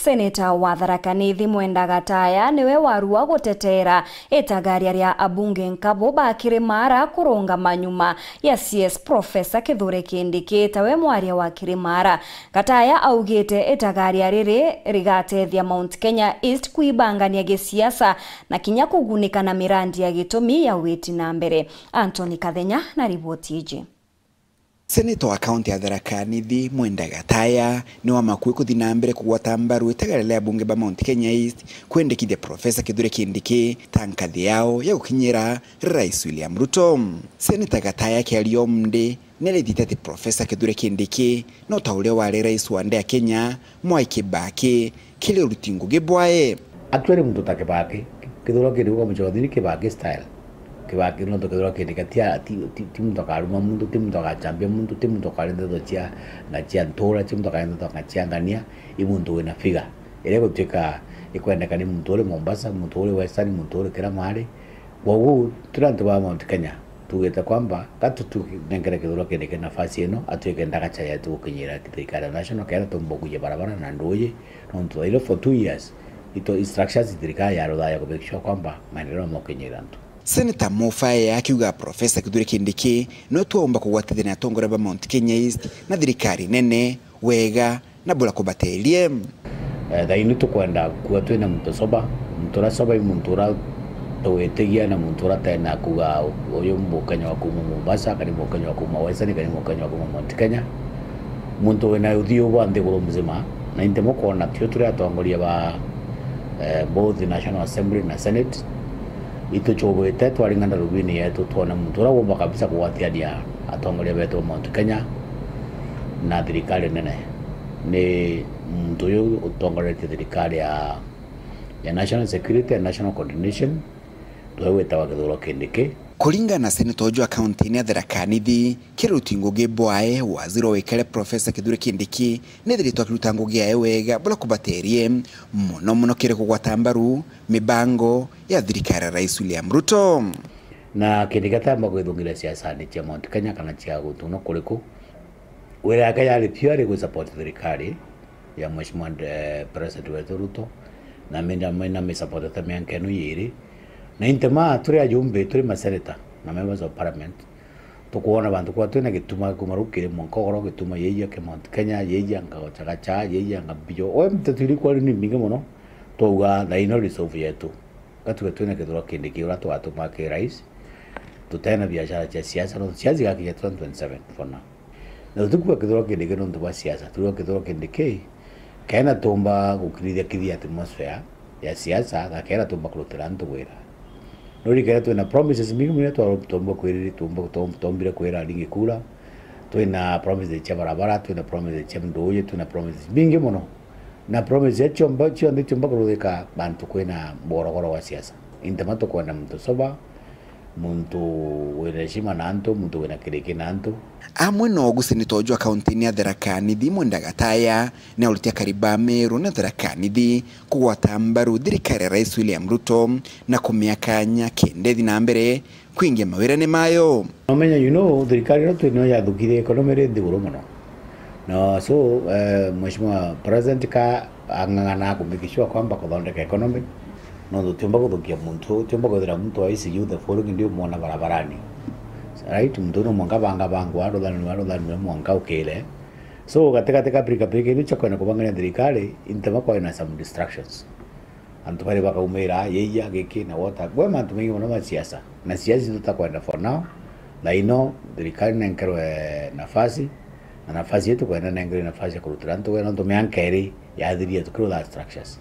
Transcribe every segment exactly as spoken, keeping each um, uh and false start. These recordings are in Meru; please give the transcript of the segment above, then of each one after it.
Seneta wa Tharaka Nithi Mwenda Gataya niwe warua guteteera itagaria ria abunge nkabo ba Kirimara kurungama nyuma ya C S Professor Kithure Kindiki tawe mwaria wa Kirimara. Gataya augite itagaria riri rigatethia Mount Kenya East kwibangania gisiasa na kinya kugunika na mirandi ya gitumi ya witi na mbere. Anthony Kathenya na riboti iji. Seneta wa kaunti ya Tharaka Nithi Mwenda Gataya ni wa makui kuthi na mbere kugwata mbaru itagaria ria abunge ba Mount Kenya East kwendekithia Professor Kithure Kindiki ta nkathi yao ya gukinyira Rais William Ruto. Seneta Gataya akiaria umndi ni arithite ati Professor Kithure Kindiki no ta uria wari rais wa nde ya Kenya Mwai Kibaki kiri uruti ngugi bwae. Actually, muntu ta Kibaki, Kithure Kindiki kwa muchothini Kibaki style. Kibaki nontu Kithure Kindiki ti, ti, ti, ti muntu akaruma muntu, ti muntu akachambia muntu, ti muntu akaria ndeto cia, na cia ntura, ti muntu akaria ndeto cia ngania, i muntu wina figure. Iria gutuika ikwendeka ni muntu uri Mombasa, muntu uri Western, muntu uri kira maari. Kwoguo, turi antu ba Mount Kenya, tugite kwamba, ka tutunengere Kithure Kindiki nafasi ino, atuike ndagacha yetu gukinyira thirikari ya national, kenda tumba kuja barabara na nduuji, nontu thaino for two years, ito structures thirikari ya ruthaya ku make sure kwamba maendeleo mokinyira antu. Senator Mufae akiuga Professor Kithure Kindiki no twaumba kugwatithia na atongoria ba Mount Kenya East na thirikari nene wega na bura kubaterie. Eh, thaini tukwenda kua twina muntu soba, muntu uria soba i muntu uria tugwitigia na muntu uria tena kuga uyu mukenya wa kuma Mombasa, kana mukenya wa kuma Western, kana mukenya wa kuma Mount Kenya. Muntu wina uthiu bwa nthiguru mzima, na inte mukwona tio turi atongoria ba, eh, both National Assembly na Senate. Ituchubwite twaringa ndarubini yetu twone muntu uria wumba kabisa kugwatiania atongoria betu ba Mount Kenya na thirikari nene. Ni muntu uyu utongoretie thirikari ya, ya national security and national coordination, tuwe witawa Kithure Kindiki. Kuringana na seneta uju wa kaunti-ini ya Tharaka Nithi, kiri uruti ngugi bwae, waziri wa wikare Professor Kithure Kindiki nethiritwe akiruta ngugi yae wega bura kubaterie, mono mono kiri kugwata mbaru mibango ya thirikari ya Rais William Ruto. Na Kindiki atamba kwithungira siasani cia Mount Kenya kana cia guntu no kuriku. Wira yake yari purely gwi support thirikari ya Mheshimiwa, eh, President wetu Ruto, na mi ndamwina mi support ta miaka ino yiri. Na inte ma turi ajumbe, turi maseneta na members of parliament, tukwona bantu kwa twina gituma kuma riu kiri mwanka ugoro, gituma yeija ki Mount Kenya, yeija nga Chagacha, yeija nga Mbijo. Oe mitetu iri kwari ni mingi mono, twauga thaino resolve yetu. Gatuga twina Kithure Kindiki uria twatuma ki rais, tutena biashara cia siasa, no siasa igakinya twenty twenty-seven for now. Na tutikuga Kithure Kindiki nontu bwa siasa, tuga Kithure Kindiki kena tumba gukirithia kithia atmosphere ya siasa, na kena tumba kurutira antu wira. No rikera twina promises mingi muno twa-, tumba kwiriri, tumba, tum-, tumbire kwira aringi kura, twina promises cia barabara, twina promises cia nduuji, twina promises mingi muno. Na promise ya ciomba, cionthe ciomba kuruthika bantu kwina borogoro wa siasa. Intema tukwenda muntu soba, muntu wina heshima na antu, muntu wina kiriki na antu. Amwe no guseneta uju wa kaunti-ini ya Tharaka Nithi Mwenda Gataya, ni aurite akari ba Meru na Tharaka Nithi kugwata mbaru thirikari ya Rais William Ruto na kumia kanya kenda ithi na mbere kwingia mawirane mayo. Nomenya, you know, thirikari ino twinio yathukirie economy iri nthiguru muno. Na so, eh, Mheshimiwa President ka ang'ang'ana ku make sure kwamba kuthondeka economy, no tutiumba kuthukia muntu, tutiumba kwithira muntu wa I C U the following day umwona barabarani. Right? Muntu no mwanka banga bangwa, ruthanirwe, ruthanirwe mwanka ukire. So, gatigati ka pirikapirika ino cia kwenda kubangania thirikari, intema kwina some distractions. Antu bari bakaumira, yeija, giki na wota. Gwe mantu maingi mono ma siasa. Na siasa icio tutakwenda for now. Na ino, thirikari nenkerwe nafasi. Na nafasi yetu kwenda nenkerwe nafasi ya kurutira antu wira, nontu mianka iri yathiria tukirutha structures.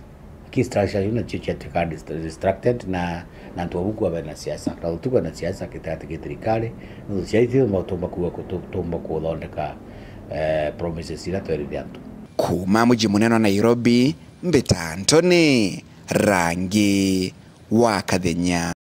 Ki structures iu nacio ciatuika dist-, distracted na, na antu babu kuwa bena siasa. Na tukwenda siasa kitigati ki thirikari. Nontu siasa icio tumba kuwa kutu-, tumba kuthondeka, eh, promises iria twerire antu. Kuma muji munene wa Nairobi, Mbita Anthony, Rangi wa Kathenya.